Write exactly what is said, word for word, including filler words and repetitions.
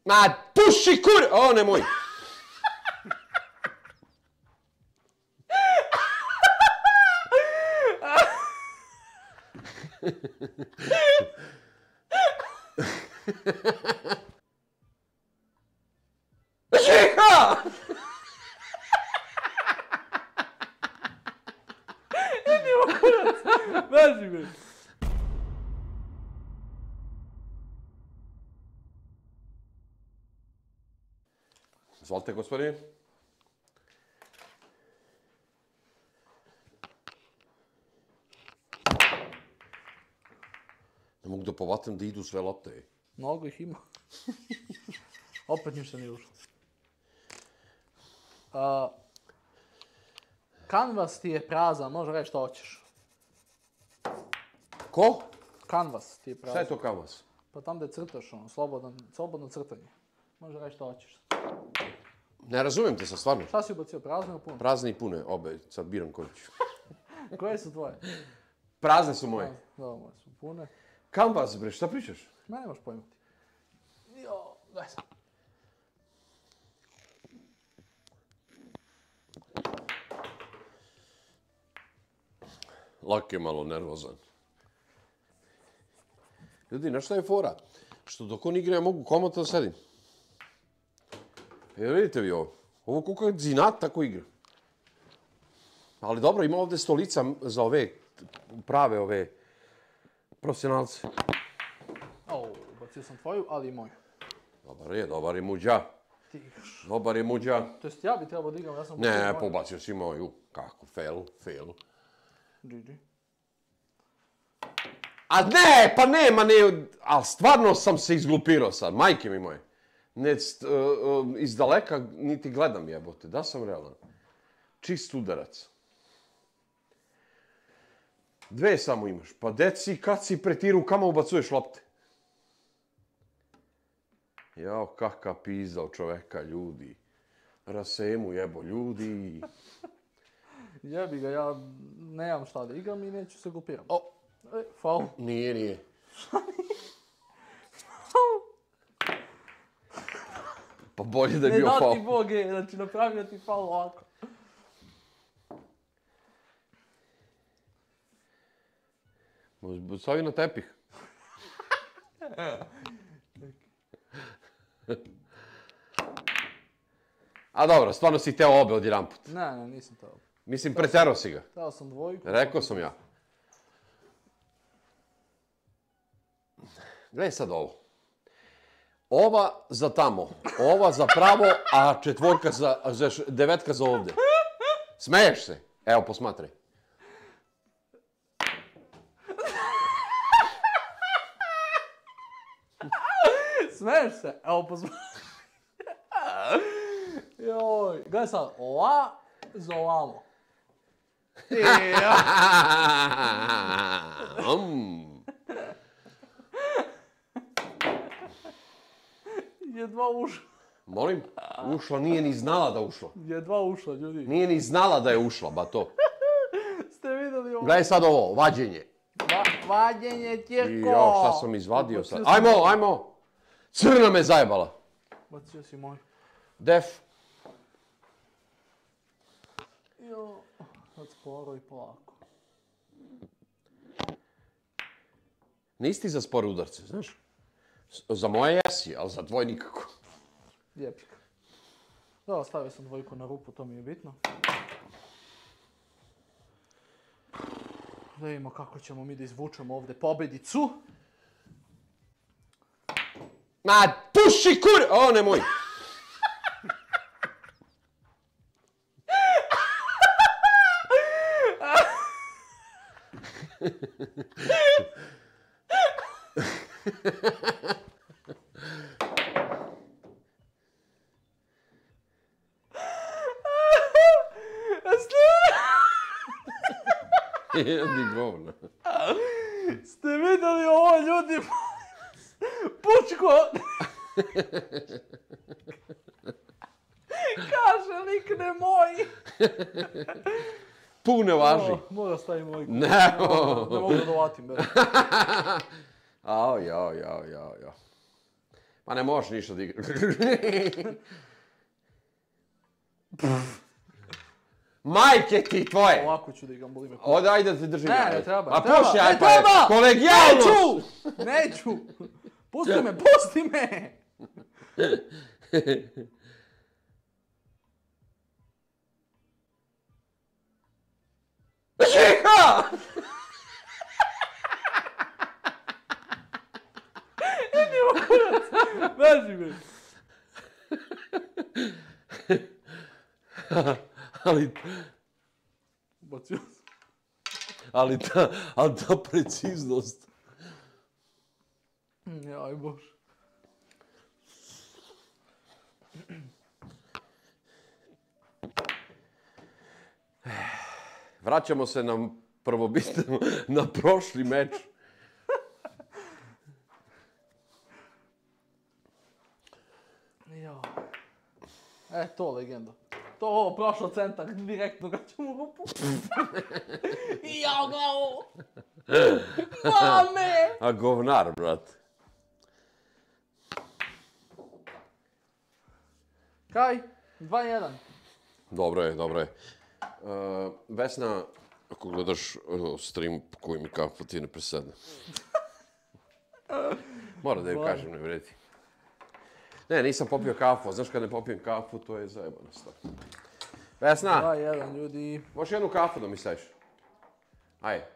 Ma, puši kur... O, nemoj. Žiha! Idi u kurac! Beži me! Izvolite, gospodine. Ne mogu da povatam da idu sve lopte. Mnogo ih ima. Opet ništa nije ušlo. Uh, kanvas ti je prazan, može reći što hoćeš. Ko? Kanvas ti je prazan. Šta je to kanvas? Pa tam da crtaš, ono, slobodan, slobodno crtanje. Može reći što hoćeš. Ne razumijem te sad, stvarno. Šta si ubacio, prazno ili puno? Prazne i pune, obe, sad biram koju ću. Koje su tvoje? Prazne su moje. Dobro, moje su pune. Kanvas, bre, šta pričaš? Ma nemaš pojmati. Jo, daj sad. Lak je malo nervozan. Ljudi, znaš šta je fora? Što dok on igra ja mogu komotno da sedim. Jer vidite vi ovo. Ovo koliko je zinat, tako igra. Ali dobro, ima ovdje stolica za ove prave ove profesionalce. O, ubacio sam tvoju, ali i moju. Dobar je, dobar je muđa. Ti igraš. Dobar je muđa. To jest ja bi trebao da igram, ja sam... Ne, pobacio si moju. Kako, fail, fail. G G. A ne, pa nema, ne, ali stvarno sam se izglupirao sad, majke mi moje. Ne, st, uh, uh, iz daleka niti gledam jebote, da sam realan. Čist udarac. Dve samo imaš, pa deci kad si pretiru, kamo ubacuješ lopte? Jao, kakav pizdao čoveka, ljudi. Rasemu jebo, ljudi. Jebi ga, ja nemam šta da igram i neću se glupiram. O, E, faul. nije, nije. Pa bolje da je Ne bio da faul. ti Boge, znači napravio ti faul ovako. Stavi na tepih. A dobro, stvarno si teo obe odjedanput. Ne, ne, nisam to. Mislim, preterao si ga. Teo sam dvojku. Rekao sam ja. Gledaj sad ovo. Ova za tamo, ova za pravo, a četvorka za, za devetka za ovdje. Smeješ se? Evo, posmatraj. Smeješ se? Evo pozvati. Joj, gledaj sad, ova za ovamo. Mm. Jedva ušla. Molim? Ušla, nije ni znala da ušla. Jedva ušla, ljudi. Nije ni znala da je ušla, ba to. Ste vidjeli ovo? Gledaj sad ovo, vađenje. Va, vađenje tijeko. Jo, šta sam izvadio sad? Ajmo, ajmo. Crna me zajebala. Bacio si moj. Def. Jo, sad sporo i polako. Nisi ti za spore udarce, znaš? Za moje jesi, ali za tvoj nikako. Lijepika. Dobro, stavio sam dvojku na rupu, to mi je bitno. Da vidimo kako ćemo mi da izvučemo ovdje pobjedicu. Ma, puši kur... O, nemoj. Jedi govna. Ste vidjeli ovo, ljudi? Pučko! Kaže lik nemoj! Pune važi. O, mora staviti moj. Ne, Ne mogu da dovatim, bez. Ao, jao, jao, jao, jao. Ma ne možeš ništa da igraš. Majke ti tvoje! Ovako ću da igram, boli me. Ovdje, ajde da ti držim. Ne, ne treba, A ne treba, puši, ne aj pa, treba! kolegijalno! Neću! Neću! Pusti me, pusti me! Žiha! Beži me! Ali, Bacio sam. ali ta, ali ta preciznost. Jaj bože. Vraćamo se na prvobitno, na prošli meč. Jao. E, to legenda. To ovo prošlo centar, direktno ga ćemo rupu. Jao glavo! Mame! A govnar, brat. Kaj? dva jedan. Dobro je, dobro je. Uh, Vesna, ako gledaš uh, stream, koji mi kafu ti ne presedne. Moram da im kažem, ne vredi. Ne, nisam popio kafu, a znaš kad ne popijem kafu, to je zajebano stav. Vesna, dva jedan, ljudi. možeš jednu kafu da mi staviš? Ajde.